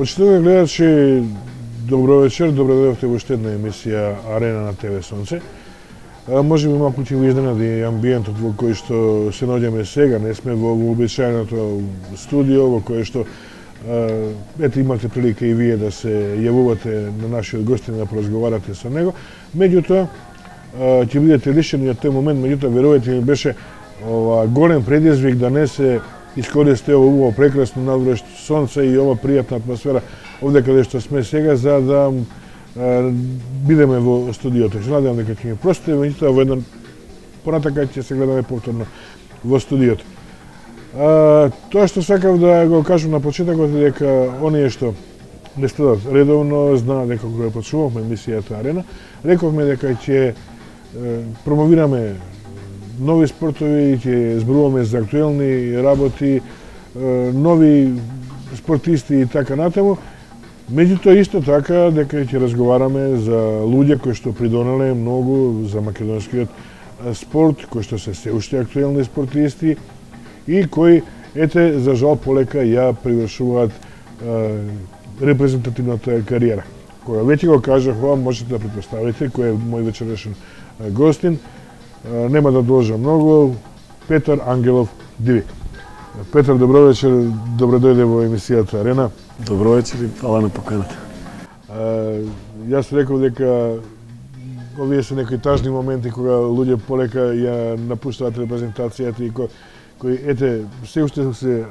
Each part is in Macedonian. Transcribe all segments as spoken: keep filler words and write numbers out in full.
Почитувани гледачи, добро вечер, добро дојдовте во уште една емисија Арена на ТВ Сонце. Може би малку ќе го изненади амбиентот во кој што се наоѓаме сега, не сме во вообичаеното студио во кое што ете имате прилика и вие да се јавувате на нашиот гостин да поразговарате со него. Меѓутоа ќе бидете лишени од тој момент, меѓутоа верувајте ми беше ова голем предизвик да не се искористи ово убаво прекрасно надворещо сонце и ова пријатна атмосфера овде каде што сме сега за да е, бидеме во студиото. Се надевам дека ќе ми простите, меѓутоа во еден понатака ќе се гледаме повторно во студиото. А, тоа што сакав да го кажам на почетокот е дека оние што не следат редовно знаат дека кога почнувавме емисијата Арена, рековме дека ќе промовираме нови спортови, ќе зборуваме за актуелни работи, нови спортисти и така натаму. Меѓутоа исто така дека ќе разговараме за луѓе кои што придонеле многу за македонскиот спорт, кои што се се уште актуелни спортисти и кои ете за жал полека ја привршуваат репрезентативната кариера. Кога веќе го кажав ова, можете да претпоставите кој е мој вечерашен гостин. Нема да должам многу, Петар Ангелов Дивик. Петар, добро вечер, добро дојде во емисијата Арена. Добро вечер и фала на поканата. Јас реков дека овие се некои тажни моменти кога луѓе полека ја напуштаат репрезентацијата и кои, кои ете се уште се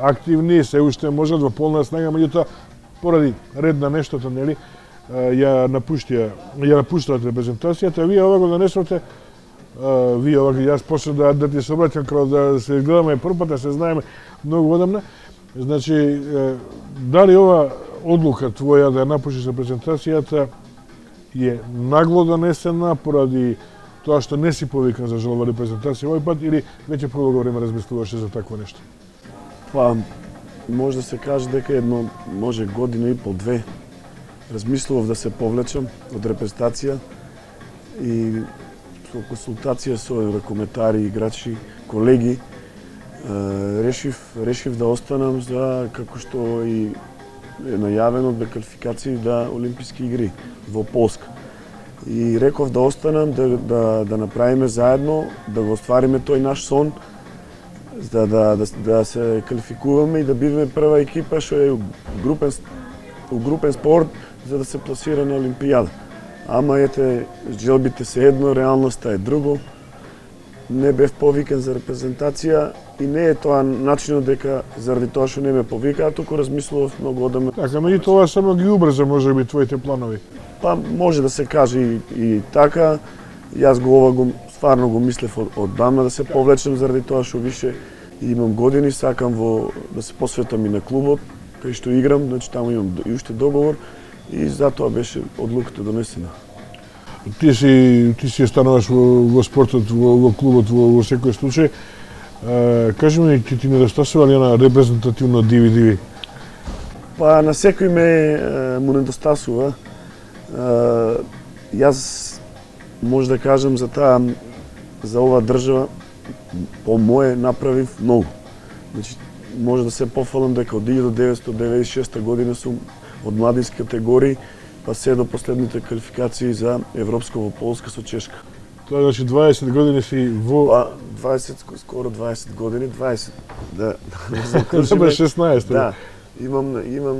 активни, се уште можат во полна снага, меѓутоа поради ред на нештото, нели, ја напуштија, ја напуштаат репрезентацијата, вие ова го донесовте. Uh, вие овака, јас почнав да, да ти се обраќам како да се гледаме прв пат, да се знаеме многу одамна. Значи, uh, дали ова одлука твоја да ја напуштиш репрезентацијата е нагло донесена поради тоа што не си повикан за жал во репрезентација овој пат или веќе продолго време размислуваше за такво нешто? Па, може да се каже дека едно, може година и пол, две, размислував да се повлечам од репрезентација и со консултација со ракометари, играчи, колеги, решив, решив да останам за, како што и е најавено, да квалификации да Олимписки игри во Полска. И реков да останам, да, да, да направиме заедно, да го оствариме тој наш сон, да, да, да, да се квалификуваме и да бидеме прва екипа што е групен, групен спорт за да се пласира на Олимпијада. Ама ете, желбите се едно, реалноста е друго. Не бев повикан за репрезентација и не е тоа начинот дека заради тоа што не ме повикаа, туку размислував многу одамна. Така, меѓу тоа само ги убрза можеби твоите планови. Па може да се каже и, и така. Јас го ова го стварно го мислев од, оддамна да се повлечем заради тоа што више имам години, сакам во да се посветам и на клубот кај што играм, значи таму имам и уште договор. И затоа беше одлуката донесена. Ти си ти си стануваш во, во спортот, во, во клубот во, во секој случај. Е, кажи ми, ти ти недостасува ли на репрезентативно диви диви? Па на секој ме е, му недостасува. Е, јас може да кажам за таа за оваа држава по мое направив многу. Значи може да се пофалам дека од илјада деветстотини деветдесет и шеста година сум од младински категории, па се до последните квалификации за Европско во Полска со Чешка. Тоа значи дваесет години си во... Па, дваесет, скоро дваесет години, дваесет, да. Да, шеснаесет. Да, имам, имам,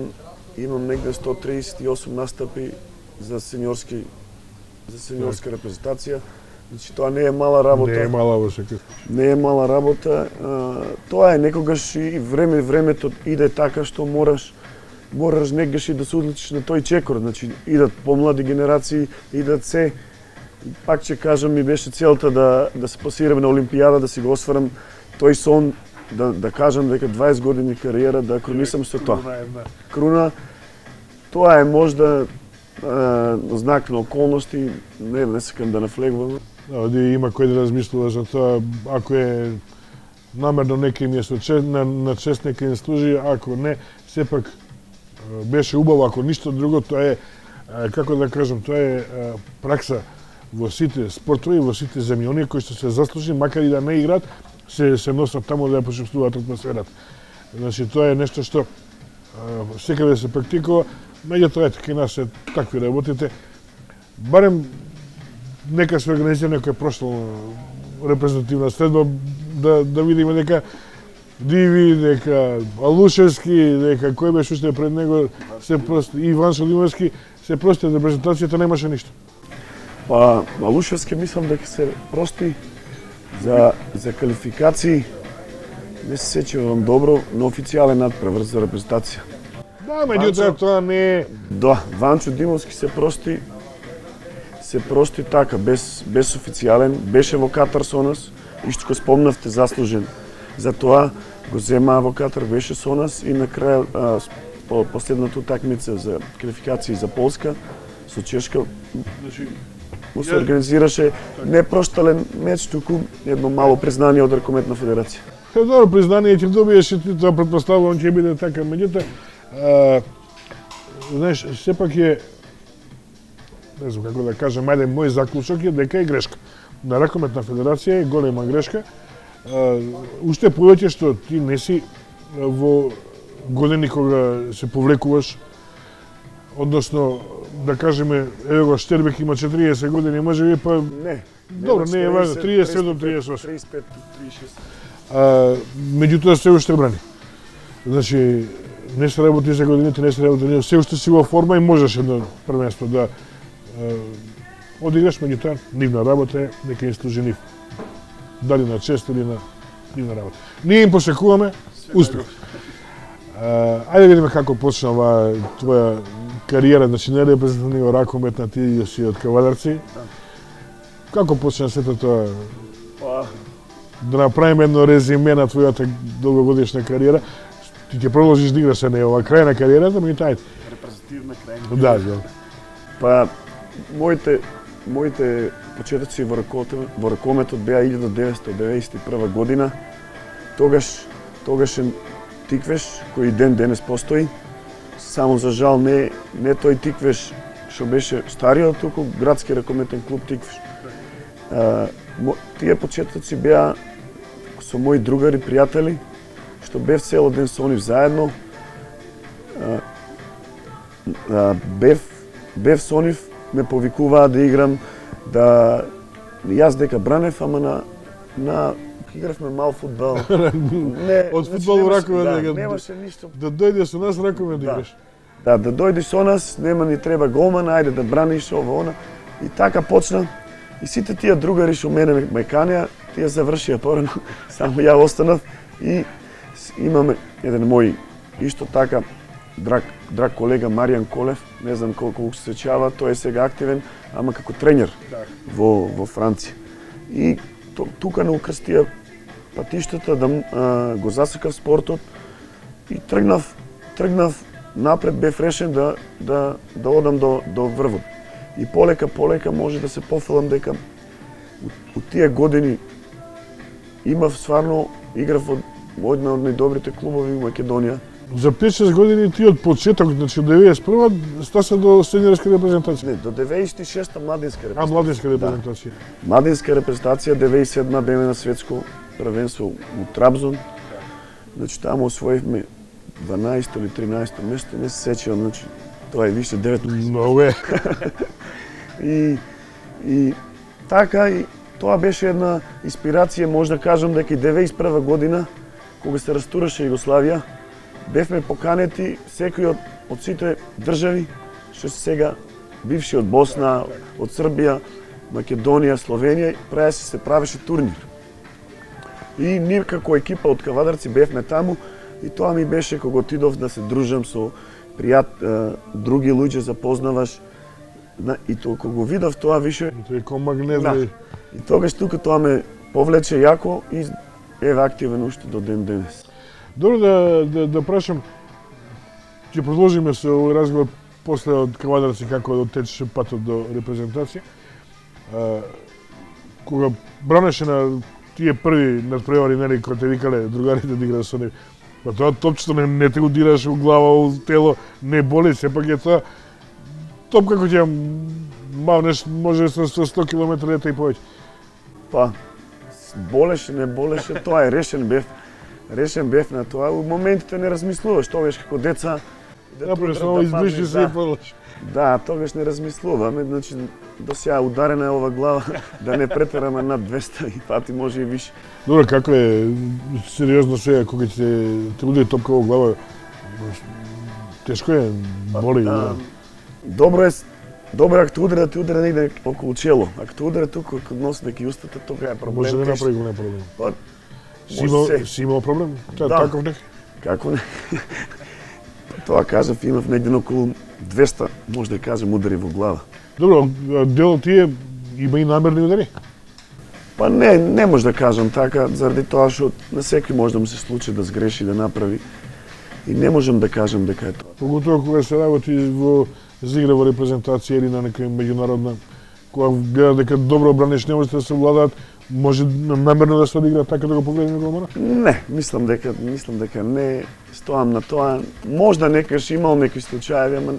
имам негде сто триесет и осум настапи за сениорски, за сениорска репрезентација. Значи, тоа не е мала работа. Не е мала во секој. Не е мала работа. А, тоа е некогаш и време, времето иде така што мораш мораш негаш и да се удлучиш на тој чекор, значи идат помлади генерации, идат се. Пак ќе кажам, ми беше целта да да се пласирам на Олимпијада, да си го осварам тој сон, да да кажам дека дваесет години кариера да кронисам со тоа. Круна, тоа е можда е, знак на околности, не не сакам да навлегувам. Да, има кој да размислува за тоа, ако е намерно некој ми е со чест, на, на чест некој не служи, ако не, сепак беше убаво, ако ништо друго, тоа е, како да кажам, тоа е пракса во сите спортови, во сите земји. Оние кои што се заслужи, макар и да не играат, се, се носат таму да ја почувствуваат атмосферата. Значи, тоа е нешто што секаде се практикува, меѓутоа ете кај нас се такви работите. Барем нека се организира некоја прошло репрезентативна средба да да видиме дека Диви, дека Алушевски, дека кој беше уште пред него, се просто Иван Шалимовски, се прости репрезентацијата немаше ништо. Па Алушевски мислам дека се прости за за квалификации. Не се сеќавам добро на официјален надпревар за репрезентација. Да, меѓутоа тоа не е. Да, Ванчо Димовски се прости се прости така без без официјален, беше во Катар со нас и што спомнавте заслужен. За тоа го зема во Катар, беше со нас и на крај а, по последната утакмица за квалификации за Полска со Чешка, значи му се организираше непроштален меч, туку едно мало признание од Ракометна федерација. Е, добро признание ќе добиеш и тоа претпоставувам ќе биде така, меѓутоа знаеш, сепак е, не знам како да кажам, ајде мој заклучок е дека е грешка. На Ракометна федерација е голема грешка. Уште повеќе што ти не си во години кога се повлекуваш, односно, да кажеме, ево го Штербек има четириесет години, може би па... Не. Добро, не е важно, триесет и седум триесет и осум. триесет и пет триесет и шест. Меѓутоа се уште брани. Значи, не се работи за годините, не се работи, се уште си во форма и можеш едно првенство да одиграш, меѓутоа нивна работа е дека им служи нив. Дали на чест или на нивна работа. Ние им посекуваме успех. Ајде да видиме како почна оваа твоја кариера, значи не репрезентативно ракометна, ти си од Кавадарци. Како почна сето тоа? Да направиме едно резиме на твојата долгогодишна кариера. Ти ќе продолжиш да играш, не ова крај на кариерата, меѓутоа ајде. Репрезентативна крај на кариерата. Да, да. Па моите моите почетоци во ракометот, во ракометот беа илјада деветстотини деветдесет и прва година. Тогаш тогашен тиквеш кој ден денес постои. Само за жал не не тој тиквеш што беше стариот, туку градски ракометен клуб Тиквеш. А, тие почетоци беа со мои другари, пријатели, што бев цело ден со нив заедно. А, а, бев бев со нив, ме повикуваа да играм, да јас дека бранев, ама на на игравме мал фудбал. Не, од фудбал во ракомет да, дека немаше ништо. Да дојде со нас ракомет да играш. Да, да дојдеш со нас, нема ни треба голман, ајде да браниш ово она. И така почна. И сите тие другари што мене ме канеа, тие завршија порано, само ја останав и имаме еден мој исто така драг драг колега Маријан Колев, не знам колку се сеќава, тој е сега активен, ама како тренер во во Франција. И тука не укрстија патиштата да а, го засекав спортот и тргнав тргнав напред, бев решен да да да одам до до врвот. И полека полека може да се пофалам дека у тие години имав стварно играв во една од најдобрите клубови во Македонија. За пет-шест години ти од почеток, значи од деветдесет и прва стаса до сениорска репрезентација. Не, до деветдесет и шеста младинска репрезентација. А, младинска репрезентација. Да. Младинска репрезентација, деветдесет и седма беме на светско првенство у Трабзон. Значи таму освоивме дванаесто или тринаесто место, не се сеќавам, значи тоа е више деветто. Многу е. и и така и тоа беше една инспирација, може да кажам дека и деветдесет и прва година кога се растураше Југославија, бевме поканети секој од, од сите држави што се сега бивши од Босна, од Србија, Македонија, Словенија, прави се се правеше турнир. И ние како екипа од Кавадарци бевме таму и тоа ми беше кога отидов да се дружам со пријат други луѓе, запознаваш. И тоа кога го видов тоа више тој ко магнет. Да. И тогаш тука тоа ме повлече јако и еве активен уште до ден денес. Добро да да, да прашам, ќе продолжиме со овој разговор после од Кавадарци како течеше патот до репрезентација. А, кога бранеше на тие први надпревари, нели, кога те викале другарите да играат со нив, па тоа топчето не, не те го дираш у глава, у тело, не боли, сепак е тоа топ како ќе мавнеш, може со сто километри лета и повеќе. Па, болеше, не болеше, тоа е решен бев. решен бев на тоа. У моментите не размислуваш, тогаш како деца да пресново изблиши се и подлаш. Да, тогаш не размислуваме, значи до сега ударена е ова глава, да не претераме над двеста и пати може и више. Добро, како е сериозно сега кога ќе те удари топка во глава? Тешко е, боли. Да. Добро е, добро ако те удари да те удари негде околу чело. Ако те удари тука код носник и устата, тога е проблем. Може да не направи голем проблем. Па, си имал, си имал проблем? Та, да. Таков нек? Како не? Тоа кажав, имав негде околу двеста, може да кажем, удари во глава. Добро, дел тие има и намерни удари? Па не, не може да кажам така, заради тоа што на секој може да му се случи да сгреши, да направи. И не можам да кажам дека е тоа. Поготово кога се работи во зигра во репрезентација или на некоја меѓународна, кога гледа дека добро браниш, не можете да се владаат, може намерно да се одигра така да го погледне голмана? Не, мислам дека мислам дека не стоам на тоа. Можда некаш имал некои случаи, ама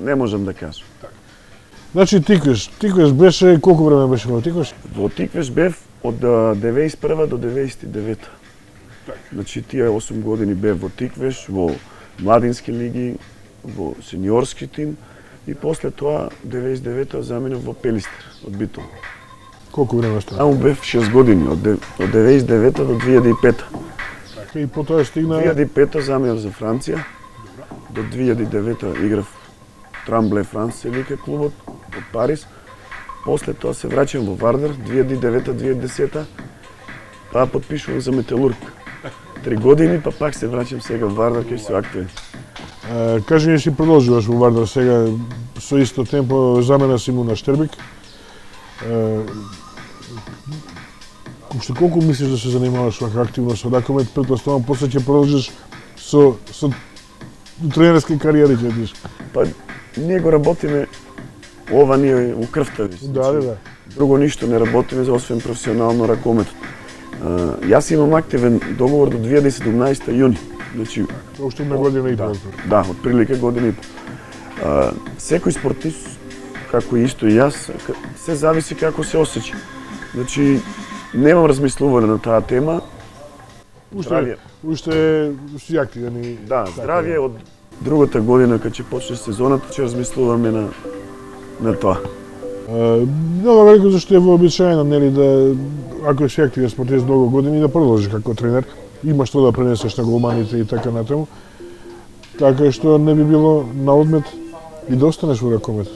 не можам да кажам. Значи Тиквеш, Тиквеш беше колку време беше во Тиквеш? Во Тиквеш бев од деветдесет и прва до деветдесет и девета. Значи тие осум години бев во Тиквеш, во младински лиги, во сениорски тим и после тоа деветдесет и девета заминав во Пелистер од Битол. Колку време стана? Таму бев шест години, од деветдесет и девета до две илјади и пета. Така и потоа стигна... две илјади и пета заминав за Франција. До две илјади и девета играв Трамбле Франс се вика клубот од Париз. После тоа се враќам во Вардар две илјади и девета до две илјади и десета. Па потпишувам за Металург. Три години, па пак се враќам сега во Вардар кај се актуелен. Кажи ми, си продолжуваш во Вардар сега со исто темпо, замена си му на Штербик. Уште колку мислиш да се занимаваш вака активно со ракомет, претпоставам после ќе продолжиш со со тренерски кариери ќе идиш? Па ние го работиме ова ние у крвта ви. Да, да, да. Друго ништо не работиме за освен професионално ракометот. Јас имам активен договор до две илјади и седумнаесета јуни. Значи уште на година и да, пол. да, отприлика година и пол. Секој спортист како исто и јас, се зависи како се осеќа. Значи немам размислување на таа тема. Уште уште си активен и да, здравје од другата година кога ќе почне сезоната, ќе размислуваме на на тоа. Много велико зашто е вообичаено, нели, да ако си активен спортист многу години да продолжиш како тренер, имаш што да пренесеш на голманите и така натаму. Така што не би било на одмет и да останеш во ракометот.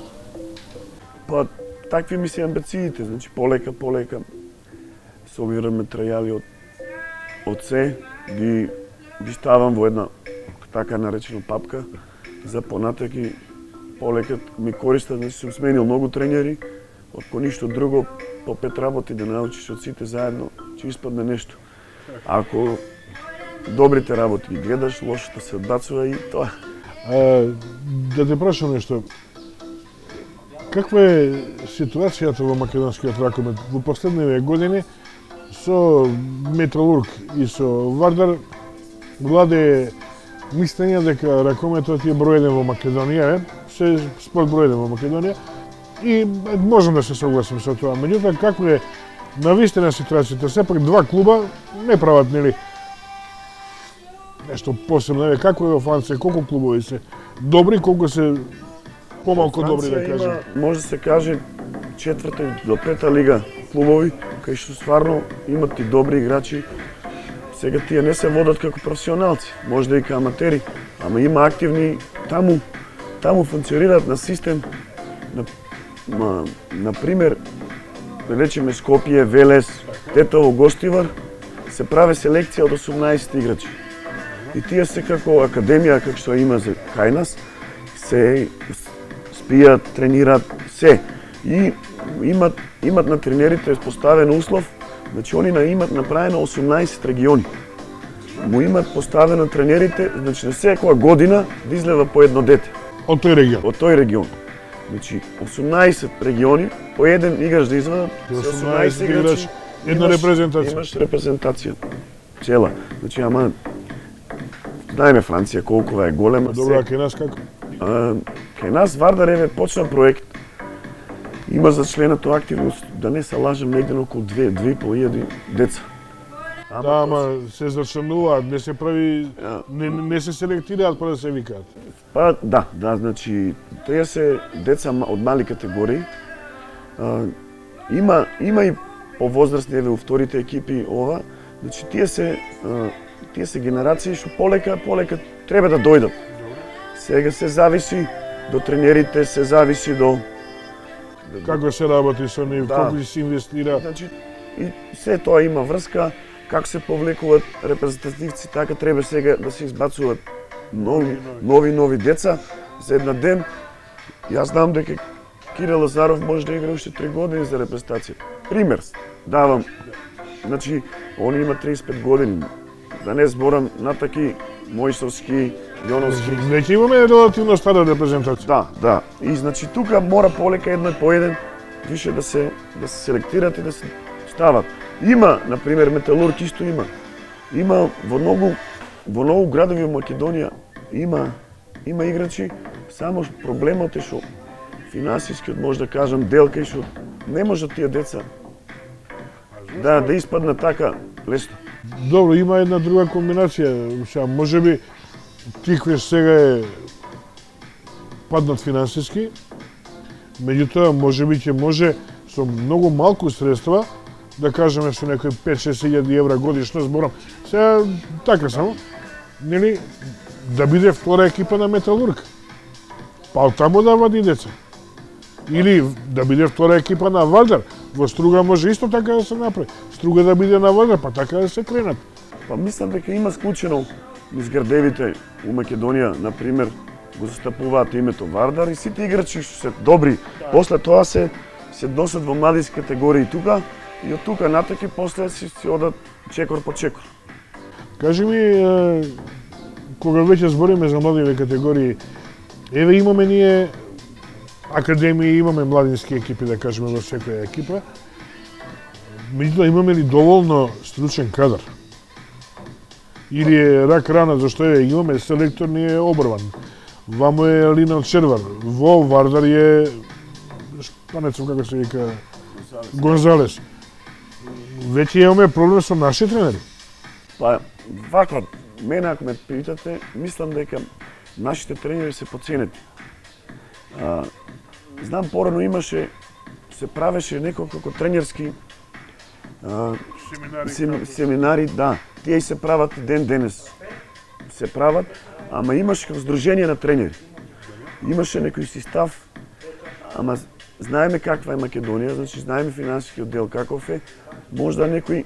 Па такви ми се амбициите, значи полека полека собираме трајали од од се, ги ги ставам во една така наречена папка за понатак и полека ми користат, значи сум сменил многу тренери, од по ништо друго, по пет работи да научиш од сите заедно, ќе испадне нешто. Ако добрите работи ги гледаш, лошото се одбацува и тоа. А, да те прашам нешто. Каква е ситуацијата во македонскиот ракомет во последниве години со Металург и со Вардар? Владе мислење дека ракометот е број еден во Македонија, се спорт број еден во Македонија и можам да се согласам со тоа. Меѓутоа, каква е навистина ситуацијата? Сепак два клуба не прават, нели, нешто посебно. Еве, како е во Франција, колку клубови се добри, колку се помалку добри, да кажем? Може да се каже четврта до пета лига клубови, кај што стварно имат и добри играчи. Сега тие не се водат како професионалци, може да и како аматери, ама има активни таму, таму функционираат на систем, на, на, на пример, да речеме Скопје, Велес, Тетово, Гостивар, се прави селекција од осумнаесет играчи. И тие се како академија, како што има за кај нас, се спијат, тренираат, се. И имат, имат на тренерите поставен услов, значи они имат направено осумнаесет региони. Му имат поставено тренерите, значи на секоја година да излева по едно дете. Од тој регион? Од тој регион. Значи осумнаесет региони, по еден играч да извадат, осумнаесет играчи, една репрезентација. Имаш репрезентација. Цела. Значи, ама, знаеме Франција колку е голема. Добро, а кај нас како? А, кај нас Вардар еве почна проект. Има за членато активност, да не се лажам, негде околу две, две и пол илјади деца. Ама да, ама се зачленуваат, не се прави, не, не се селектираат па да се викаат. Па да, да, значи тие се деца од мали категории. А, има има и повозрастни еве у вторите екипи ова, значи тие се а, тие се генерации што полека полека треба да дојдат. Сега се зависи до тренерите, се зависи до Како се работи со нив, да. колку се инвестира. Значи и се тоа има врска, како се повлекуваат репрезентативци, така треба сега да се избацуваат нови нови нови деца за една ден. Јас знам дека Кирил Лазаров може да игра уште три години за репрезентација. Пример давам. Значи, он има триесет и пет години. Да не зборам на таки Мојсовски, Јоновски. Веќе имаме релативно стара репрезентација. Да, да. И значи тука мора полека едно по еден више да се да се селектират и да се стават. Има, на пример, Металург исто има. Има во многу во многу градови во Македонија има има играчи, само проблемот е што финансискиот, може да кажам, делка и што не можат тие деца да да испаднат така лесно. Добро, има една друга комбинација, ша можеби Тиквеш сега е паднат финансиски, меѓутоа можеби ќе може со многу малку средства, да кажеме со некои пет-шест илјади евра годишно, зборам, сега така само, нели, да биде втора екипа на Металург. Па таму да вади деца. Или да биде втора екипа на Вардар. Во Струга може исто така да се направи. Струга да биде на Вардар, па така да се кренат. Па мислам дека има склучено низ градевите у Македонија, на пример, го застапуваат името Вардар и сите играчи што се добри, после тоа се се носат во младински категории тука и од тука натаки после си, си одат чекор по чекор. Кажи ми, е, кога веќе збориме за младиве категории, еве имаме ние академии, имаме младински екипи, да кажеме, во секоја екипа. Меѓутоа, имаме ли доволно стручен кадар? Или е рак рана, зашто е, имаме селектор, ни е обрван. Вамо е Лина Червар, во Вардар е шпанецов, како се вика, Гонзалес. Веќе имаме проблем со наши тренери. Па, вака, мене ако ме питате, мислам дека нашите тренери се поценети. А, знам, порано имаше, се правеше неколку тренерски а, Семинари, сем, семинари, да, тие и се прават ден денес. Се прават, ама имаше како здружение на тренери. Имаше некој си став, ама знаеме каква е Македонија, значи знаеме финансискиот дел каков е, можда некој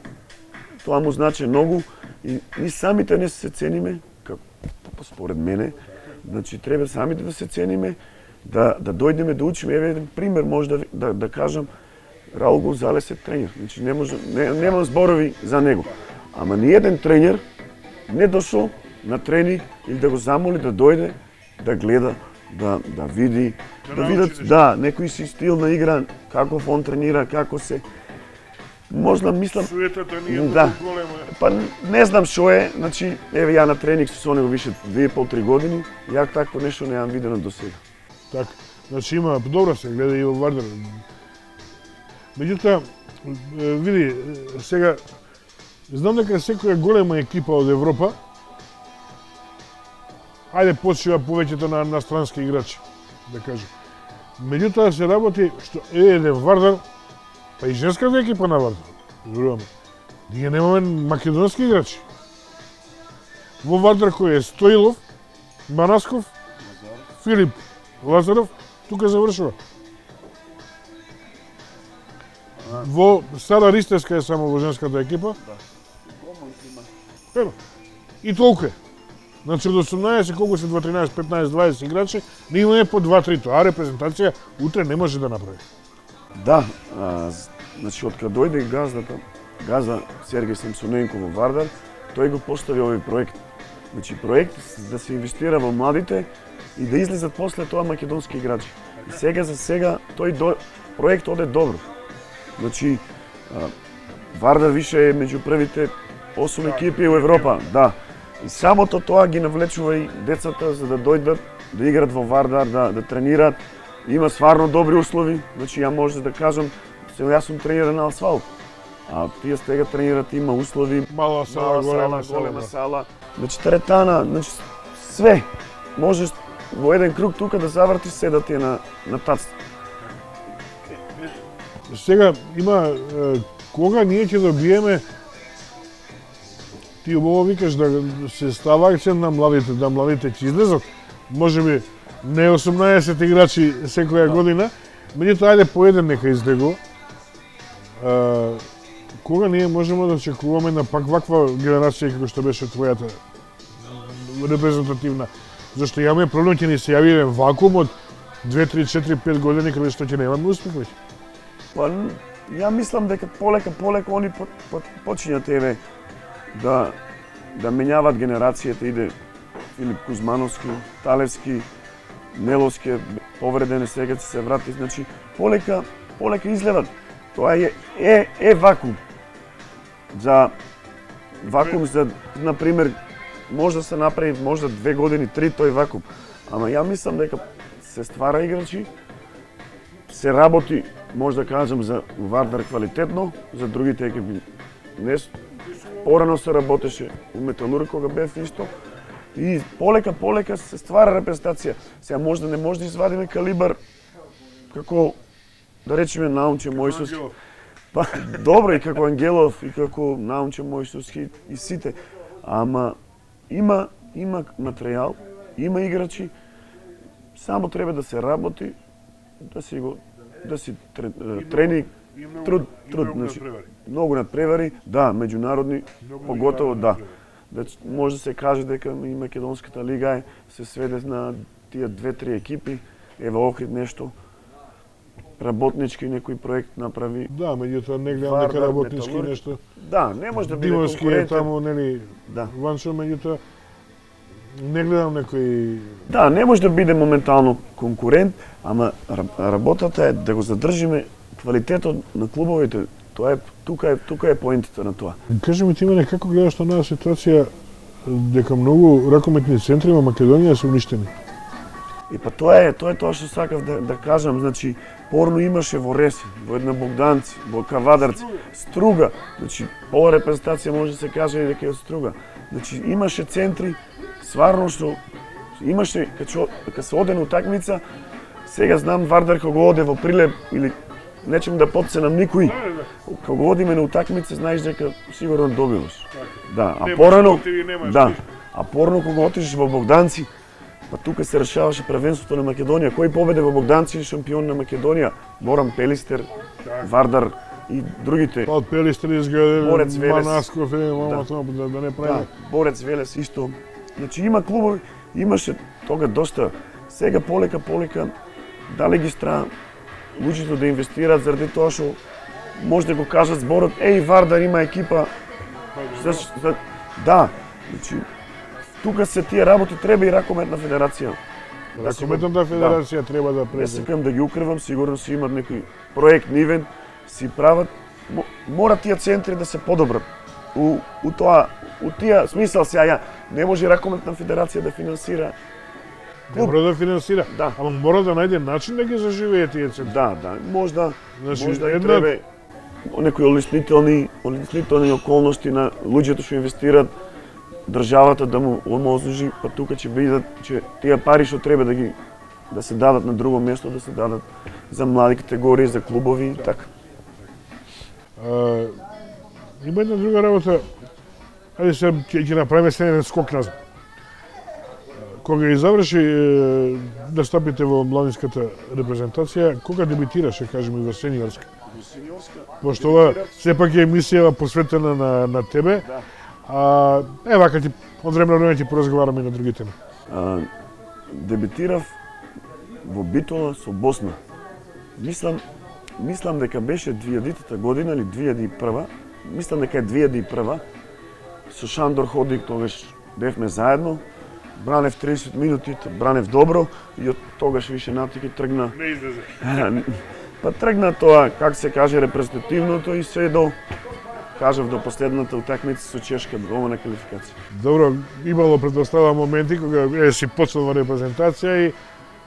тоа му значи многу и ни самите не се цениме, како според мене, значи треба самите да се цениме, да да дојдеме да учиме. Еве еден пример може да да, да кажам, Раул Гонзалес е тренер. Значи не може не, немам зборови за него. Ама ни еден тренер не дошол на тренинг или да го замоли да дојде, да гледа, да да види, да, да видат да некој си стил на игра, како он тренира, како се можда мислам суетата ни е да. голема. Па не знам што е, значи еве ја на тренинг со него више две и пол три години, ја такво нешто не јам видено до сега. Така, значи има, добро се гледа и во Вардар. Меѓутоа, види, сега, знам дека секоја голема екипа од Европа, ајде почива повеќето на, на странски играчи, да кажем. Меѓутоа се работи што е еден Вардар, па и женската екипа на Вардар, зборуваме. Ние немаме македонски играчи. Во Вардар кој е Стоилов, Манасков, Филип Лазаров, тука завршува. Во Стара Ристевска е само во женската екипа. Ено. И толку е. Значи од осумнаесет, колку се два, тринаесет, петнаесет, дваесет играчи, не имаме по два-три, тоа репрезентација утре не може да направи. Да, а, значи од кога дојде газдата, газда Сергеј Самсоненко во Вардар, тој го постави овој проект. Значи проект да се инвестира во младите и да излезат после тоа македонски играчи. И сега за сега тој до... проект оде добро. Значи а, Вардар више е меѓу првите осум екипи во Европа, да. И самото тоа ги навлечува и децата за да дојдат да играат во Вардар, да да тренираат. Има стварно добри услови, значи ја може да кажам, се јас сум тренер на асфалт. А тие сега тренират, има услови, Мала сала, голема сала, голема сала. Значи теретана, значи све. Можеш во еден круг тука да завртиш се да ти е на на тац. Сега има е, кога ние ќе добиеме, ти убаво викаш да се става акцент на младите, да младите ќе излезат, можеби не осумнаесет играчи секоја да. година, меѓутоа ајде по еден нека излегува. Е, кога ние можеме да очекуваме на пак ваква генерација како што беше твојата репрезентативна? Зашто имаме проблем, ќе ни се јави еден вакуум од две, три, четири, пет години каде што ќе немаме успех веќе. Па, ја мислам дека полека, полека они по, по, почињат еве да да менјават генерацијата, иде Филип Кузмановски, Талевски, Неловски, повреден сега ќе се врати, значи полека, полека излеват. Тоа е е е вакуум. За вакуум за на пример може да се направи можда две години, три тој вакуум. Ама ја мислам дека се ствара играчи, се работи, може да кажам, за Вардар квалитетно, за другите екипи не. Порано се работеше у Металург кога бев исто. И полека, полека се ствара репрезентација. Сега можда не може да извадиме калибар како, да речеме, Наумче Мојсовски. Па, добро, и како Ангелов, и како Наумче Мојсовски, и сите. Ама има, има материјал, има играчи, само треба да се работи, да си го, да си тренинг, труд, труд, значи, многу надпревари, да, меѓународни, поготово да. Значи, може да се каже дека и Македонската лига е, се сведе на тие две-три екипи, ева Охрид нешто, работнички некој проект направи. Да, меѓутоа не гледам дека работнички Металург, нешто. Да, не може да биде Димовски конкурентен. е таму, нели, да. Ваншо, меѓутоа не гледам некој. Да, не може да биде моментално конкурент, ама работата е да го задржиме квалитетот на клубовите. Тоа е тука е тука е поентата на тоа. Кажи ми ти мене како гледаш на оваа ситуација дека многу ракометни центри во Македонија се уништени? И па тоа е, тоа е тоа што сакав да, да кажам, значи порно имаше во Реси, во една Богданци, во Кавадарци, Струга, значи ова репрезентација може да се каже дека е од Струга. Значи имаше центри, сварно што имаше кога кога се оде на утакмица, сега знам Вардар кога оде во Прилеп или нечем да потценам никој. Кога одиме на утакмица, знаеш дека сигурно добиваш. Да, а порано, да, а порано кога отидеш во Богданци, па тука се решаваше првенството на Македонија. Кој победе во Богданци шампион на Македонија? Морам Пелистер, Вардар и другите. Па од Пелистер изгледа Борец Велес. Манасков, е, мама тоа да, да не прави. Да, Борец Велес исто. Значи има клубови, имаше тога доста. Сега полека полека дали ги стра луѓето да инвестираат заради тоа што може да го кажат зборот, еј Вардар има екипа. За, за, да, значи тука се тие работи, треба и ракометна федерација. Ракометната федерација да, треба да Не презе. сакам да ги укривам, сигурно си имат некој проект нивен, си прават, мора тие центри да се подобрат. У, у тоа, у тие смисал сега ја, не може ракометна федерација да финансира клуб. Мора да финансира, да. Ама мора да најде начин да ги заживее тие центри. Да, да, можда, значи, можда и една... треба некои олеснителни, олеснителни околности на луѓето што инвестираат, државата да му омозужи, па тука ќе видат че тие пари што треба да ги да се дадат на друго место, да се дадат за млади категории, за клубови и така. А, има една друга работа. Ајде се ќе ќе направиме се еден скок назад. Кога ги заврши настапите во младинската репрезентација, кога дебитираше, кажеме, во сениорска? Во сениорска. Пошто ова сепак е емисија посветена на на тебе. Да. А, е, вака ти, од време на време ти поразговараме и на други теми. А, дебитирав во Битола со Босна. Мислам, мислам дека беше две илјадитата година или две илјади и прва. Мислам дека е две илјади и прва. Со Шандор Ходик тогаш бевме заедно. Бранев тридесет минути, бранев добро и од тогаш више натики тргна. Не излезе. Па тргна тоа, как се каже, репрезентативното и се до кажав до последната утакмица со Чешка, голема квалификација. Добро, имало предостава моменти кога е си почнал во репрезентација и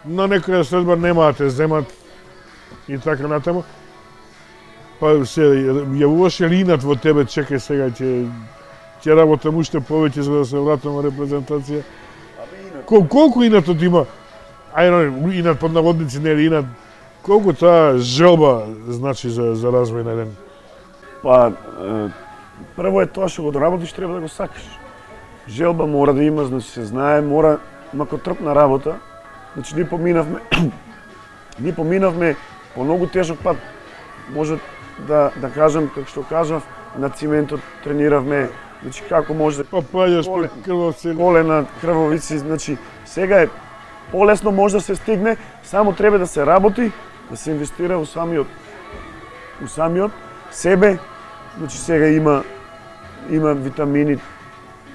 на некоја средба нема да те земат и така натаму. Па се јавуваше ли инат во тебе, чекај сега ќе ќе работам уште повеќе за да се вратам во репрезентација? Кол, колку инатот има? Ајде, инат под наводници, не е инат. Колку таа желба значи за за развој на еден? Па прво е тоа што го работиш, треба да го сакаш. Желба мора да има, значи се знае, мора макотрпна работа. Значи ние поминавме ние поминавме по многу тежок пат. Може да да кажам, како што кажав, на циментот трениравме, значи како може па паѓаш по крвавци, колена, крвавици, значи сега е полесно може да се стигне, само треба да се работи, да се инвестира во самиот во самиот себе. Значи сега има има витамини.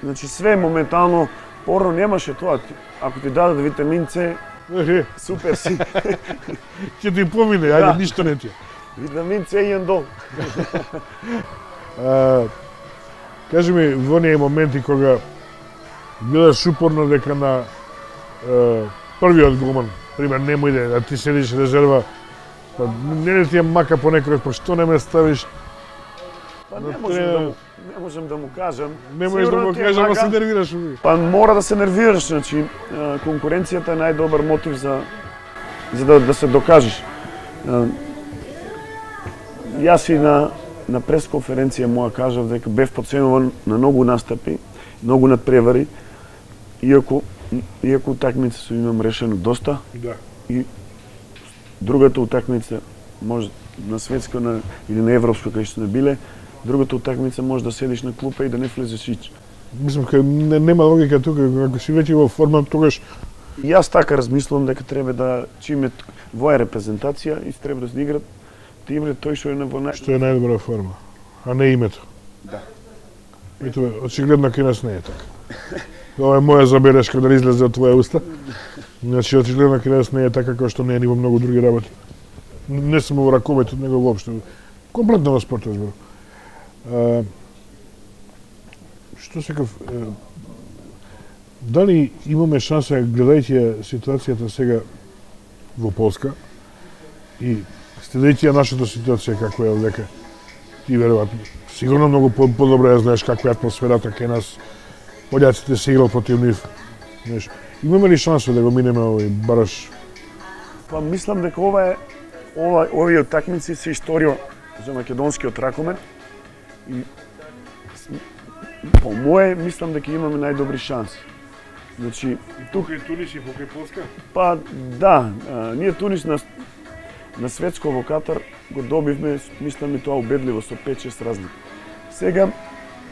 Значи све моментално, порано немаше тоа. Ако ти дадат витамин С, супер си. Ќе ти помине, ајде, ништо не ти. Витамин С и ендол. Кажи ми, во оние моменти кога гледаш упорно дека на е, првиот голман, пример, немој да, да ти седиш резерва, па не ти е мака понекој, па што не ме ставиш? Па не можем да му, не можем да му кажам. Не можеш да му кажам, а се нервираш. Па мора да се нервираш, значи конкуренцијата е најдобар мотив за за да, да се докажеш. Јас и на на пресконференција моја кажав дека бев подценуван на многу настапи, многу надпревари, иако иако утакмица со имам решено доста. Да. И другата утакмица може на светско на или на европско кај што не биле, другата утакмица може да седиш на клупа и да не влезеш ич. Мислам дека не, нема логика тука, ако си веќе во форма, тогаш јас така размислувам дека треба да чиме во репрезентација и треба да се играт да играт тој што е на во нај... што е најдобра форма, а не името. Да. Ето, очигледно кај нас не е така. Ова е моја забелешка да излезе од твоја уста. Значи, очигледно кај нас не е така како што не е ни во многу други работи. Не само во ракометот, него воопшто. Комплетно во спортот зборам. А, што секав, дали имаме шанса, гледајќи ситуацијата сега во Полска и следејќи ја нашата ситуација како е овдека, ти веројатно сигурно многу подобро ја знаеш каква е атмосферата кај нас, пољаците се играл против нив. Знаеш, имаме ли шанса да го минеме овој бараш? Па мислам дека ова е ова овие утакмици се историја за македонскиот ракомет и по мое мислам дека имаме најдобри шанси. Значи, тука и Тунис и покрај Полска? Па да, а, ние Тунис на на светско во Катар го добивме, мислам и тоа убедливо со пет-шест разлики. Сега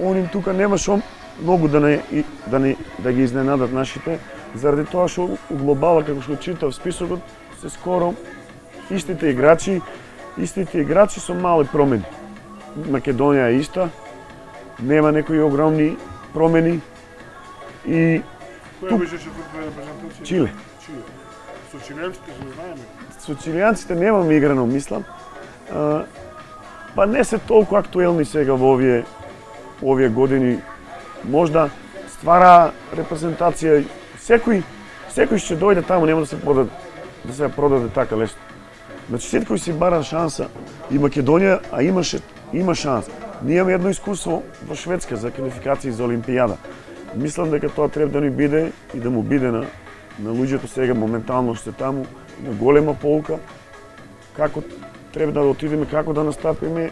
оним тука немаше многу да не да не да ги изненадат нашите, заради тоа што у глобала како што читав списокот се скоро истите играчи, истите играчи со мали промени. Македонија е иста, нема некои огромни промени и која беше четвртата репрезентација? Чиле. Чиле. Со чилијанците се знаеме. Со чилијанците немаме играно, мислам. А, па не се толку актуелни сега во овие овие години. Можда ствара репрезентација секој секој ќе дојде таму, нема да се продаде да се продаде така лесно. Значи секој си бара шанса и Македонија, а имаше има шанс. Ние имаме едно искуство во Шведска за квалификации за Олимпијада. Мислам дека тоа треба да ни биде и да му биде на на луѓето сега моментално што таму на голема полка како треба да отидеме, како да настапиме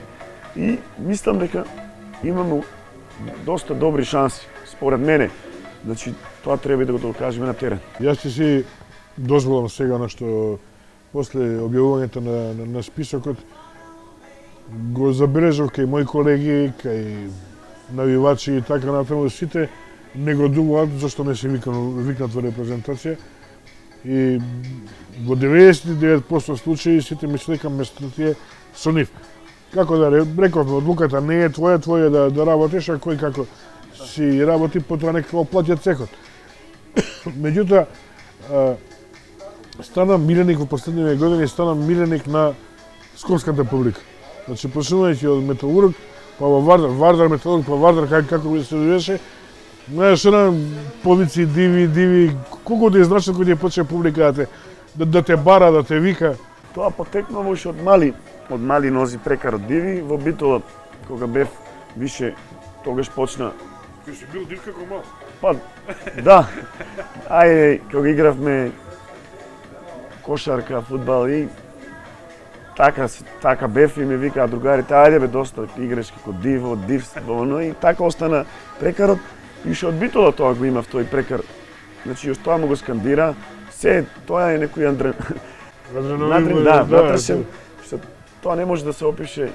и мислам дека имаме доста добри шанси според мене. Значи тоа треба да го докажеме на терен. Јас ќе си дозволам сега на што после објавувањето на, на, на списокот го забележав кај мои колеги, кај навивачи и така натаму, сите не градуваат зашто не се викнат во репрезентација и во деветдесет и девет проценти случаи сите мислат дека местото е со нив. Како да рековме, одлуката не е твоја, твоја да, да работиш, а кој како си работи, потоа нека платят цекот. Меѓутоа, стана миленик во последниве години, стана миленик на скопската публика. Значи, почнувајќи од Металург, па во Вардар, Вардар, Металург, па Вардар, како, како се довеше, знаеш, на полици, диви, диви, колку да изначат кој ти почне публика да те, да, да те бара, да те вика. Тоа потекнува уште од мали, од мали нози прекар од диви, во Битола кога бев више тогаш почна. Кој си бил див како мал? Па да. Ајде, кога игравме кошарка, фудбал и така така бев и ми викаа другарите, ајде бе доста играш како диво, дивство, но и така остана прекарот. И што од Битола тоа го имав тој прекар. Значи, јас тоа му го скандира, се тоа е некој андре... Адреналин, да, да, внатрешен, што тоа не може да се опише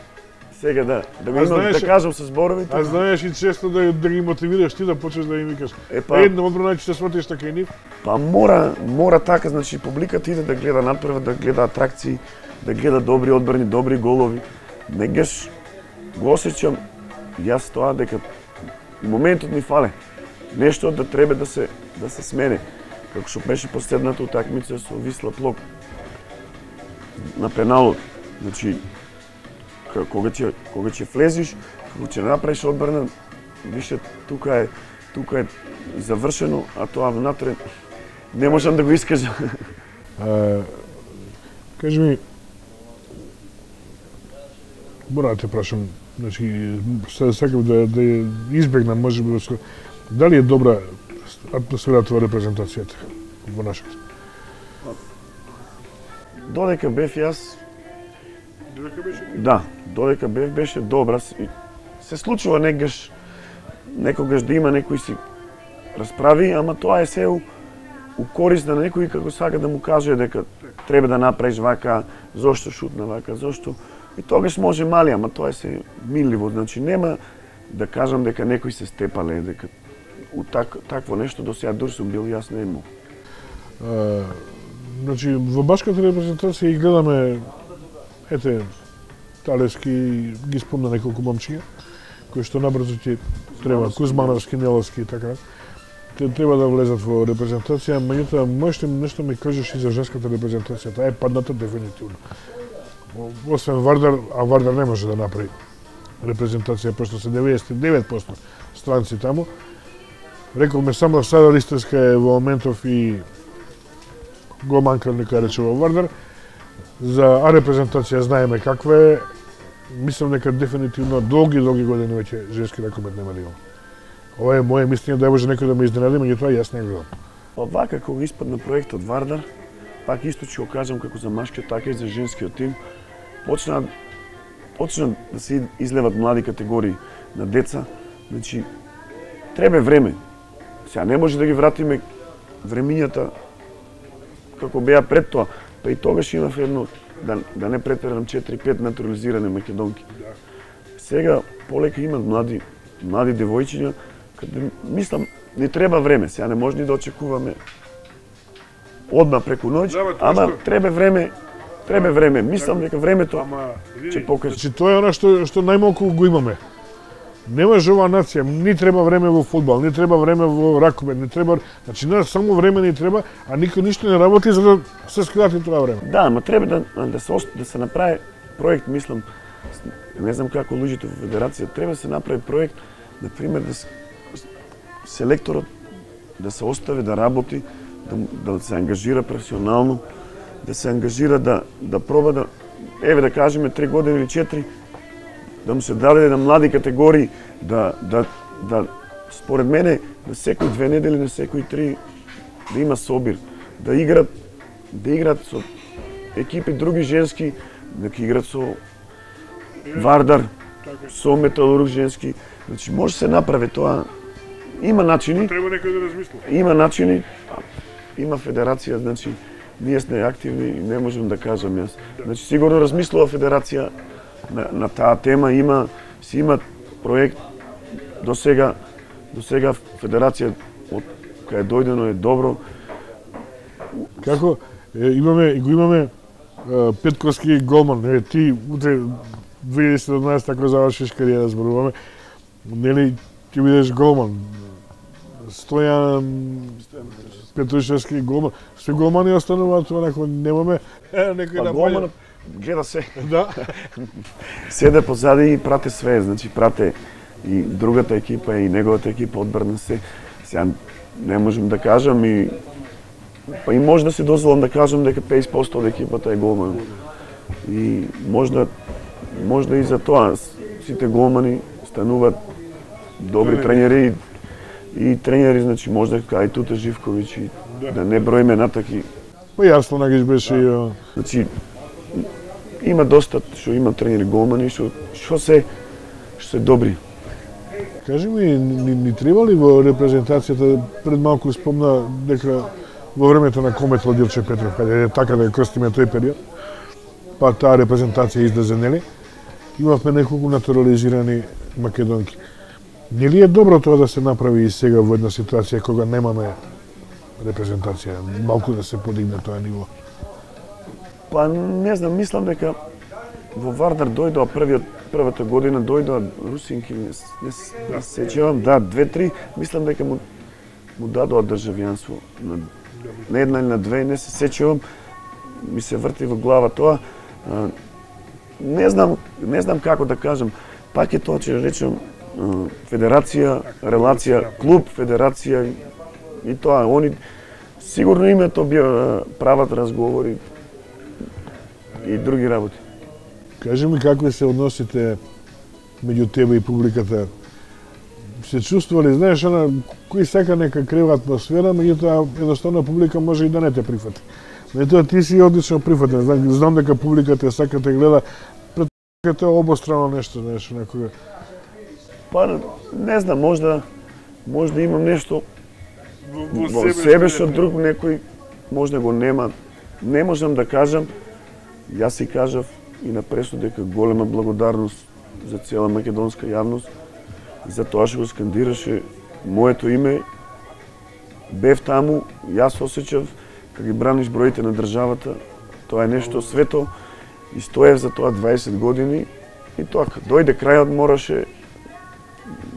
сега да да го имам знаеш, да кажам со зборовите. А знаеш и често да да ги мотивираш ти да почнеш да им викаш. Е, па, Едно одбрана ќе се сватиш така и нив. Па мора, мора така, значи публиката иде да гледа натпревар, да гледа атракции, да гледа добри одбрани, добри голови. Негаш го осеќам јас тоа дека моментот ми фале. Нешто да треба да се да се смене. Како што беше последната утакмица со Висла Плок на пеналот. Значи кога ќе кога ќе влезиш, кога ќе направиш одбрана, више тука е тука е завршено, а тоа внатре не можам да го искажам. А, кажи ми, мора да те прашам, значи, сакам да, да избегнам, може би, дали е добра атмосферата во репрезентацијата во нашата? Додека бев јас, Додека беше? да, додека бев беше добра. Се случува негаш, некогаш да има некој си расправи, ама тоа е се у, у корист на некој како сака да му каже дека треба да направиш вака, зошто шутна вака, зошто... И тогаш може мали, ама тоа е се милливо, значи нема да кажам дека некој се степале, дека у так, такво нешто до сега дур сум бил јас не имал. А, значи, во башката репрезентација и гледаме, ете, Талевски ги спомна неколку момчиња, кои што набрзо ќе треба, Кузмановски, Неловски и така, те треба да влезат во репрезентација, меѓутоа можеш нешто ми кажеш и за женската репрезентација, таа е падната дефинитивно. Освен Вардар, а Вардар не може да направи репрезентација, пошто се деветдесет и девет проценти странци таму. Рековме само Сара Ристерска е во моментов и го манка нека рече во Вардар. За А репрезентација знаеме каква е. Мислам дека дефинитивно долги, долги години веќе женски ракомет нема да има. Ова е моје мислење, да може некој да ме изненади, меѓутоа јас не гледам. Па вака кога испадна проектот Вардар, пак исто ќе го кажам како за машкиот, така и за женскиот тим, почна почна да се излеват млади категории на деца. Значи треба време. Сега не може да ги вратиме времињата како беа пред тоа. Па и тогаш имав едно, да, да не претерам четири-пет натурализирани македонки. Да. Сега полека имат млади, млади девојчиња, каде мислам не треба време. Сега не може ни да очекуваме одма преку ноќ, Да, ама што... треба време, треба време. Мислам дека времето Ама, ќе покаже. Значи, тоа е она што, што најмалку го имаме. Немаш оваа нација, ни треба време во фудбал, ни треба време во ракомет, ни треба... Значи, не само време ни треба, а никој ништо не работи за да се скрати тоа време. Да, ама треба да, да, се, да се направи проект, мислам, не знам како луѓето во федерација, треба да се направи проект, например, да се, селекторот да се остави да работи, да, да се ангажира професионално, да се ангажира да, да проба да, еве да кажеме, три години или четири, да му се даде на млади категории, да, да, да според мене, на секој две недели, на секој три, да има собир, да играт, да играт со екипи други женски, да играт со Вардар, со Металург женски. Значи може се направи тоа. Има начини. Треба некој да размисли. Има начини. Има федерација, значи ние сме активни и не можам да кажам јас. Значи сигурно размислува федерација на, на таа тема, има си има проект до сега до сега федерација од кај дојдено е добро. Како е, имаме го имаме е, Петковски голман, е, ти утре две илјади и седумнаесета ако завршиш кариера зборуваме, нели ќе бидеш голман. Стојан Петрушевски голман. Се голмани остануваат онако немаме некој Па да голман гледа се. Да. Седе позади и прате све, значи прате и другата екипа и неговата екипа одбрана се. Сега не можем да кажам и па и може да си дозволам да кажам дека петдесет проценти од екипата е голман. И можда можда и за тоа сите голмани стануваат добри тренери и, и тренери, значи можда кај Туте Живковиќ и да, да не броиме натаки. Па јасно нагиш беше и значи има доста што има тренери голмани што што се што се добри. Кажи ми, ни, ни треба ли во репрезентацијата, пред малку спомна дека во времето на Кометол Дилче Петров, каде е така да ја крстиме тој период, па таа репрезентација излезе, нели? Имавме неколку натурализирани македонки. Нели е добро тоа да се направи и сега во една ситуација кога немаме репрезентација, малку да се подигне тоа ниво? Па не знам, мислам дека во Вардар дојдоа првиот првата година дојдоа русинки, не, не, не сеќавам, да, две-три, мислам дека му му дадоа државјанство на, на една или на две, не се сеќавам, ми се врти во глава тоа. А, не знам, не знам како да кажам, пак е тоа че речем федерација, релација, клуб, федерација и тоа, они сигурно името би прават разговори и други работи. Кажи ми какви се односите меѓу тебе и публиката? Се чувствували, знаеш, она, кој сака нека крива атмосфера, меѓутоа едноставно публика може и да не те прифати. Меѓутоа ти си одлично прифатен, знам, знам дека публиката сака те гледа, пред тоа е обострано нешто, знаеш, некога. Па не знам, можда можда имам нешто во, во себе, себе што друг некој можда го нема. Не можам да кажам, јас си кажав и на пресуд дека голема благодарност за цела македонска јавност за тоа што го скандираше моето име. Бев таму, јас осеќав кога ги браниш броите на државата, тоа е нешто свето и стоев за тоа дваесет години и тоа дојде крајот мораше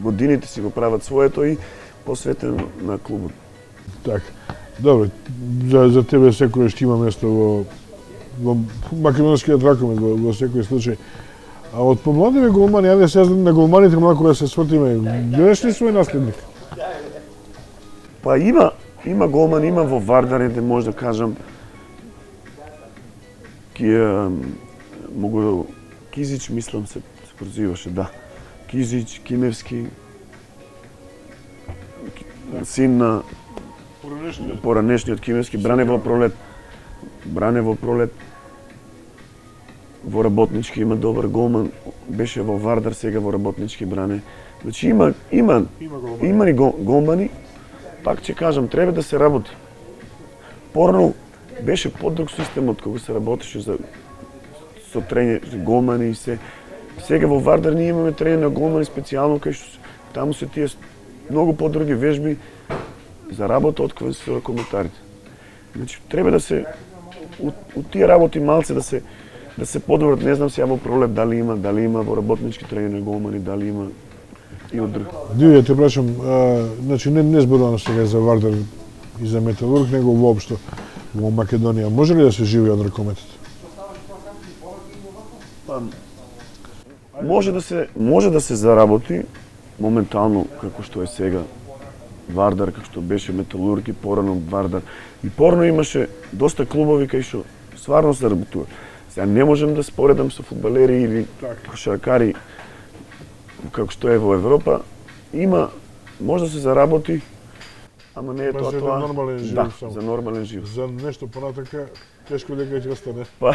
годините си го прават своето и посветен на клубот. Така. Добро, за, за тебе секој што има место во во македонскиот ракомет во, во секој случај. А од помладиве голмани, ајде сега на голманите малку да се свртиме. Гледаш ли свој наследник? Па има, има голман, има во Вардар, де може да кажам ки могу Кизич, мислам се, се прозиваше, да. Кизич, Кимевски, син на Поранешниот, поранешниот Кимевски, бране во Пролет. Бране во Пролет. Во Работнички има добар голман, беше во Вардар, сега во Работнички бране. Значи има има има голмани. Има и голмани. Пак ќе кажам, треба да се работи. Порано беше подруг системот кога се работеше за со трење голмани и се. Сега во Вардар ние имаме трење на голмани специјално кај што таму се тие многу подруги вежби за работа откако се коментарите. Значи треба да се у, у тие работи малце да се да се подобрат, не знам сега во Пролет дали има, дали има во Работнички трење на голмани, дали има и од други. Диве, те прашам, а, значи не, не зборувам сега за Вардар и за Металург, него воопшто во Македонија. Може ли да се живее од ракометот? Па, може да се може да се заработи моментално како што е сега Вардар, како што беше Металург и порано Вардар. И порано имаше доста клубови кај што стварно се работува. Сега не можем да споредам со фудбалери или кошаркари како што е во Европа. Има, може да се заработи, ама не е Па тоа за тоа. нормален живот Да, само. за нормален живот. За нешто понатака, тешко дека ќе остане. Па,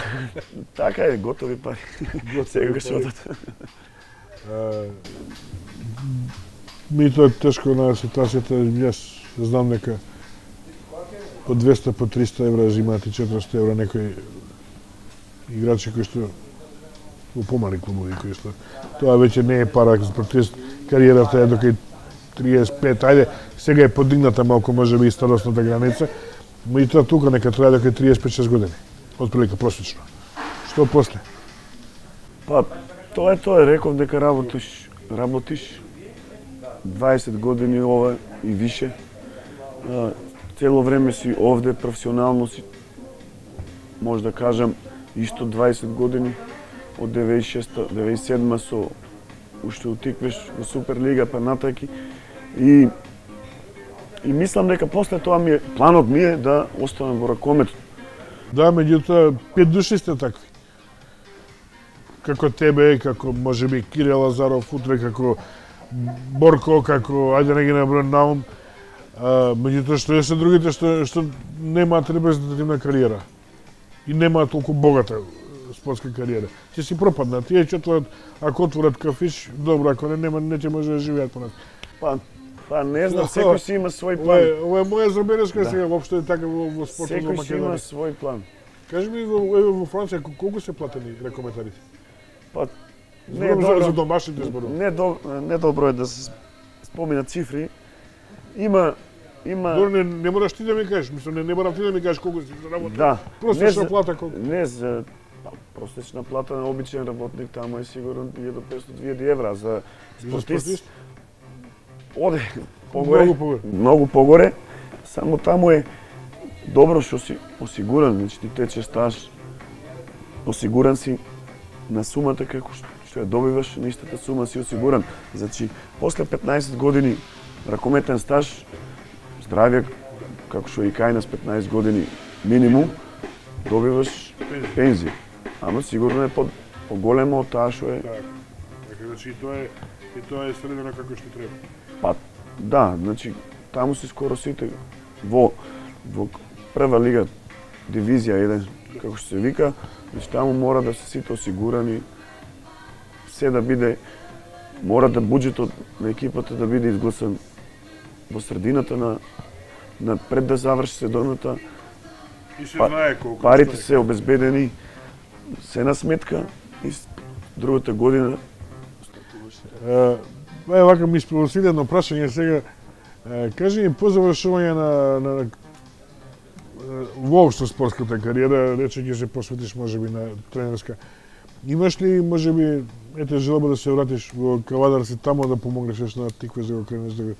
така е, готови пари. Сега ќе се одат. Ми тоа е тешко на ситуацијата, јас знам дека по двеста, по триста евра земаат и четиристо евра некои играчи кои што во помали клубови кои што тоа веќе не е пара, протест кариерата е до кај триесет и пет, ајде сега е подигната малку можеби и старосната граница, меѓутоа тука нека трае до кај триесет и пет шест години, отприлика просечно. Што после? Па, тоа е тоа, реков дека работиш, работиш дваесет години ова и више. А, цело време си овде, професионално си, може да кажам, исто дваесет години, од деветдесет и шеста, деветдесет и седма со уште утиквеш во Суперлига, па натаки. И, и мислам дека после тоа ми е, планот ми е да останам во ракометот. Да, меѓутоа, пет души сте такви. како тебе, како можеби Кире Лазаров, утре како Борко, како ајде не ги набројам на ум, меѓутоа што е се другите што што немаат репрезентативна кариера и немаат толку богата спортска кариера. Ќе си пропаднат. Тие ќе отворат, ако отворат кафиш, добро, ако не нема, не ќе може да живеат понат. Па, па не знам, секој си има свој план. Ова е моја забелешка сега, воопшто е така во, во спортот во Македонија. Секој си има свој план. Кажи ми, во, во, во Франција, колку се платени рекометарите? Па, не е добро. За домашните зборови. Не, до, не добро е да се споминат цифри. Има Има... Дори не, не мораш ти да ми кажеш, мислам, не, не морам ти да ми кажеш колку си заработил. Да. Простична плата колку? Не за па, простична плата на обичен работник таму е сигурно илјада и петстотини до две илјади евра за спортист. Оде погоре. Многу погоре. Многу погоре. Само таму е добро што си осигуран, значи ти тече стаж. Осигуран си на сумата како што ја добиваш, на истата сума си осигуран. Значи после петнаесет години ракометен стаж, здравје, како што и кај нас петнаесет години минимум, добиваш пензија. Ама сигурно е по, поголемо од таа што е. Така, така, значи и тоа е, и тоа е средено како што треба. Па, да, значи, таму си скоро сите во, во прва лига, дивизија еден, како што се вика, значи таму мора да се сите осигурани, се да биде, мора да буџетот на екипата да биде изгласан во средината на, на пред да заврши сезоната. И се знае колку. Парите се обезбедени, се на сметка и другата година. Е, е вака ми спровоцира едно прашање сега. Е, кажи ми по завршување на, на, на воопшто спортската кариера, рече ќе се посветиш можеби на тренерска. Имаш ли можеби ете желба да се вратиш во Кавадарци таму да помогнеш на Тикве за да го кренеш да го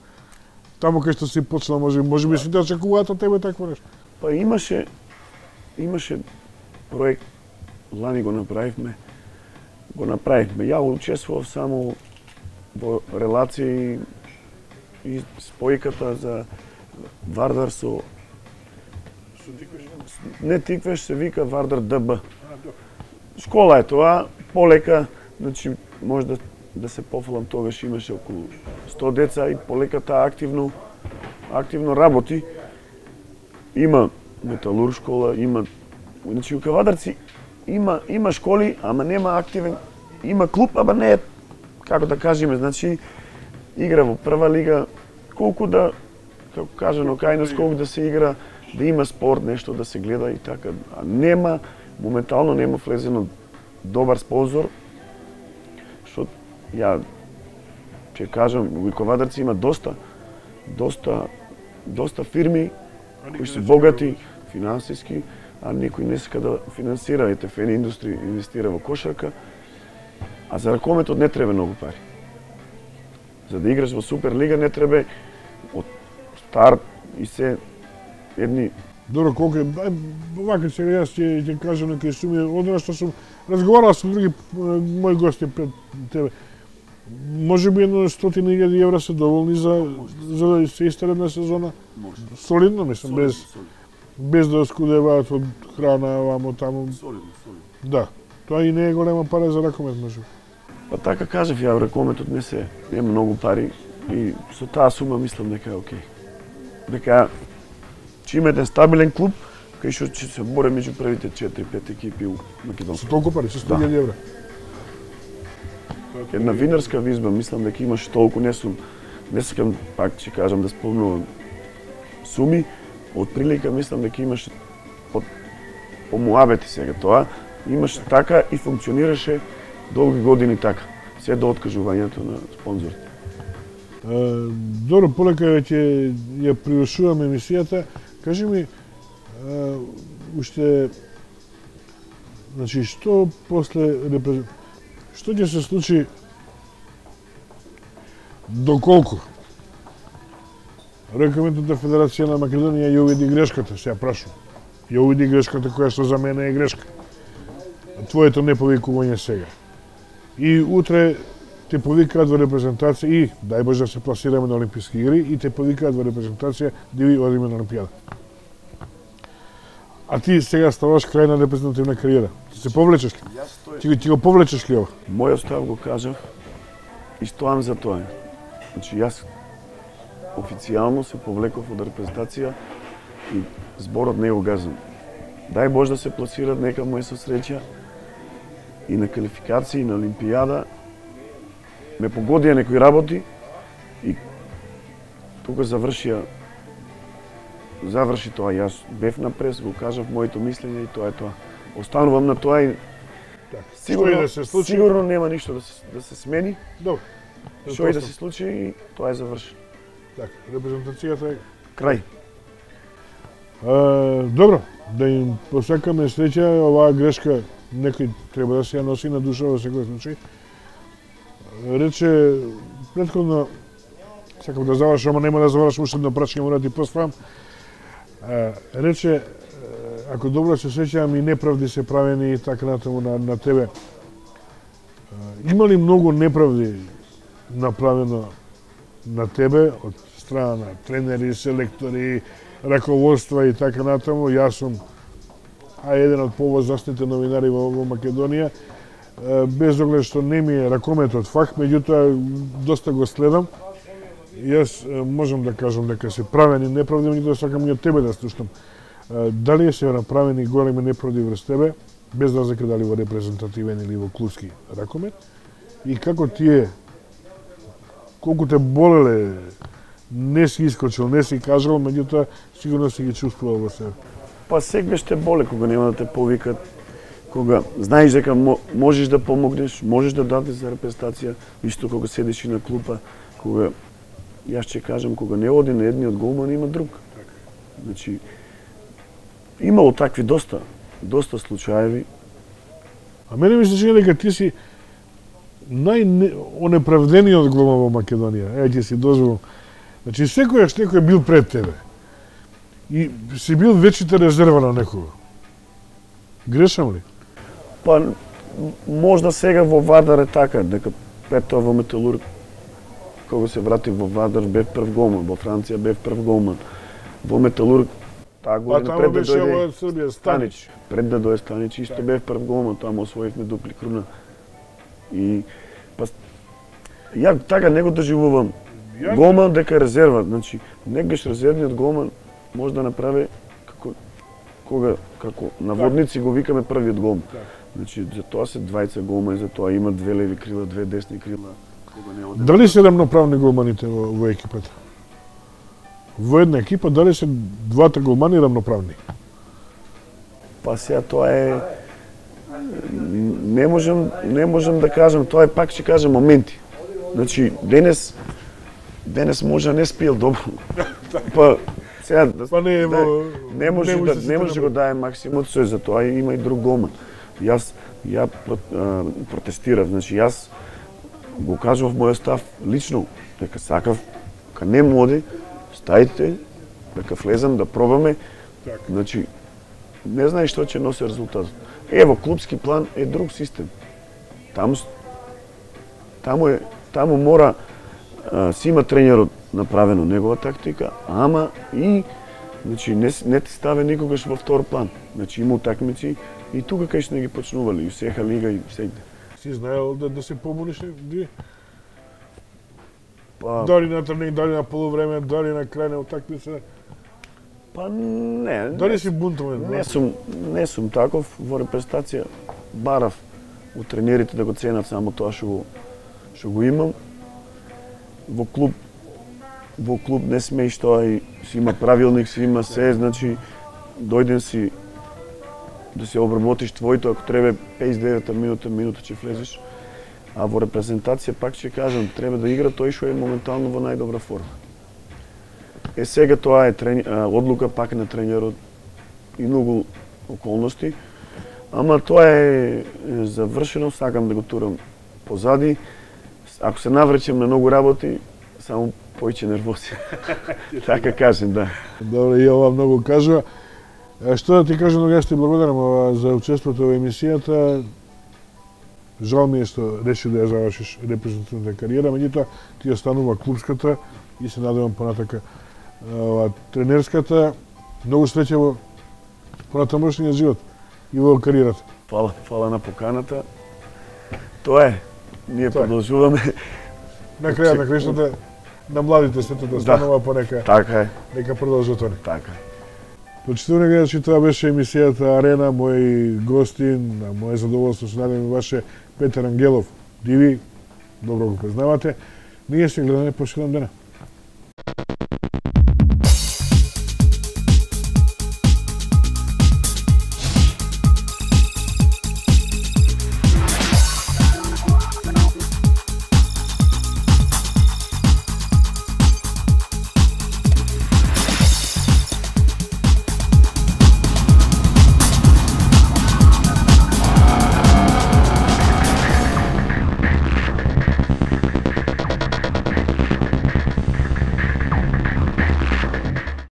таму кај што си почнал, може можеби си да очекуваат од тебе такво нешто? Па имаше имаше проект, лани го направивме. Го направивме. Ја учествував само во релации и спојката за Вардар со Со Тиквеш? Не Тиквеш, се вика Вардар ДБ. Школа е тоа, полека, значи може да да се пофалам, тогаш имаше околу сто деца и полека таа активно активно работи. Има металург школа, има значи у Кавадарци има има школи, ама нема активен, има клуб, ама не е како да кажеме, значи игра во прва лига, колку да како кажано кај нас колку да се игра, да има спорт, нешто да се гледа и така, а нема моментално нема влезено добар спонзор, што ја ќе кажам, во Кавадарци има доста, доста, доста фирми кои се богати финансиски, а никој не сака да финансира, ете Фени Индустри инвестира во кошарка, а за ракометот не треба многу пари. За да играш во Суперлига не треба од старт и се едни. Добро, колку е, вака сега јас ќе ќе кажам некои суми, одно што сум разговарал со други мои гости пред тебе. Може би едно стотина илјади евра се доволни за за да се истере една сезона. Може. Солидно, мислам, без без да оскудеваат од храна вамо таму. Солидно, солидно. Да. Тоа и не е голема пара за ракомет, може. Па така кажав ја, ракометот не се нема многу пари и со таа сума мислам дека е окей. Дека ќе има еден стабилен клуб кај што ќе се боре меѓу првите четири-пет екипи у Македонија. Со толку пари, со сто илјади евра. Една винарска визба, мислам дека имаш толку, не сум, не сакам пак ќе кажам да спомнувам суми, од прилика мислам дека имаш по, по муабети сега тоа, имаш така и функционираше долги години така, се до откажувањето на спонзорите. Uh, добро, полека ќе ја привршуваме емисијата. Кажи ми, uh, уште, значи, што после што ќе се случи доколку Ракометната федерација на Македонија ја увиди грешката, се ја прашувам. Ја увиди грешката која што за мене е грешка. Твоето неповикување сега. И утре те повикаат во репрезентација и, дај Боже да се пласираме на Олимписки игри, и те повикаат во репрезентација да ви одиме на Олимпијада. А ти сега ставаш крај на репрезентативна кариера. Ти се повлечеш ли? Ти, го- ти го повлечеш ли ова? Мојот став го кажав и стоам за тоа. Значи јас официјално се повлеков од репрезентација и зборот не го газам. Дај Боже да се пласират, нека му е со среќа и на квалификации, и на Олимпијада. Ме погодија некои работи и тука завршија заврши тоа. Јас бев на прес, го кажав моето мислење и тоа е тоа. Останувам на тоа и сигурно, Што и да се случи? сигурно нема ништо да се, да се смени. Добро. Што и да се случи и тоа е завршено. Така, репрезентацијата е Крај. А, добро, да им посакаме среќа, оваа грешка некој треба да се ја носи на душа во секој случај. Рече, претходно, сакам да завршам, ама нема да завршам, уште едно прашање мора да ти поставам. А, рече, ако добро се сеќавам, и неправди се правени и така натаму на, на тебе. А, има ли многу неправди направено на тебе од страна на тренери, селектори, раководства и така натаму? Јас сум а еден од повозрастните новинари во, во Македонија, е, без оглед што не ми е ракометот факт, меѓутоа доста го следам. Јас е, можам да кажам дека се правени неправди, меѓутоа сакам и од тебе да слушнам. Е, Дали се направени големи неправди врз тебе, без разлика дали во репрезентативен или во клубски ракомет, и како тие, колку те болеле, не си искочил, не си кажал, меѓутоа сигурно си ги чувствувал во себе. Па секогаш те боле кога нема да те повикат, кога знаеш дека можеш да помогнеш, можеш да дадеш за репрезентација, исто кога седиш и на клупа, кога јас ќе кажам, кога не оди на едниот голман има друг. Значи имало такви доста, доста случаеви. А мене ми се чини дека ти си најонеправдениот голман во Македонија. Е, ќе си дозволам. Значи, секојаш некој бил пред тебе. И си бил вечите резерва на некого. Грешам ли? Па можда сега во Вардар е така, дека пред тоа во Металург, кога се вратив во Вардар, бев прв голман, во Франција бев прв голман. Во Металург таа А година тамо пред да беше во дојде Србија, Станич. Станич, пред да дојде Станич, исто бев прв голман, таму освоивме дупли круна. И па ја така не го доживувам. Ја- Голман дека резерва, значи некогаш резервниот голман може да направи како кога како наводници го викаме првиот голман. Значи за тоа се двајца голмани, за тоа има две леви крила, две десни крила. Кога не оде. Дали се рамноправни голманите во, во екипата? Во една екипа дали се двата голмани рамноправни? Па сега тоа е не можам не можам да кажам, тоа е пак ќе кажам моменти. Значи денес денес може не спиел добро. Па сега да, Па не е да, во- не може не да се не може да направи. го дае максимот, со за тоа има и друг голман. Јас ја про- а, протестирав, значи јас го кажав мојот став лично дека сакав кога не моди стајте дека влезам да пробаме. Така. Значи не знаеш што ќе носи резултатот. Ево клубски план е друг систем. Таму с- таму е таму мора а, си има тренерот направено негова тактика, ама и значи не с- не ти ставе никогаш во втор план. Значи има утакмици и тука кај што не ги почнували и сеха лига и сегде. Си знаел да, да се помониш ди? Па Дали на тренинг, дали на полувреме, дали на крај на утакмица? па не. Дали не, си бунтовен? не сум не сум таков во репрезентација. Барав у тренерите да го ценат само тоа што го што го имам. Во клуб во клуб не смееш тоа и си има правилник, си има се, значи дојден си да се обработиш твоето, ако треба песет и девета минута, минута ќе влезеш. А во репрезентација пак ќе кажам, треба да игра тој што е моментално во најдобра форма. Е сега тоа е трени... а, одлука пак на тренерот и многу околности, ама тоа е, е завршено, сакам да го турам позади. Ако се навречем на многу работи, само поиќе нервози. Така кажем, да. Добро, и ова многу кажува. Е, Што да ти кажам, многу јас ти благодарам ова, за учеството во емисијата. Жал ми е што реши да ја завршиш репрезентативната кариера, меѓутоа ти останува клубската и се надевам понатака ова тренерската. Многу среќа во понатамошниот живот и во кариерата. Фала, фала на поканата. Тоа е. Ние Тоа е. продолжуваме. На крајот на краиштата на младите сето да станува по нека Така е. нека продолжат они. Така. Почитувани гледачи, тоа беше емисијата Арена, мој гостин, на моје задоволство се надевам ваше Петар Ангелов. Диви, добро го познавате. Ние се гледаме по седум дена.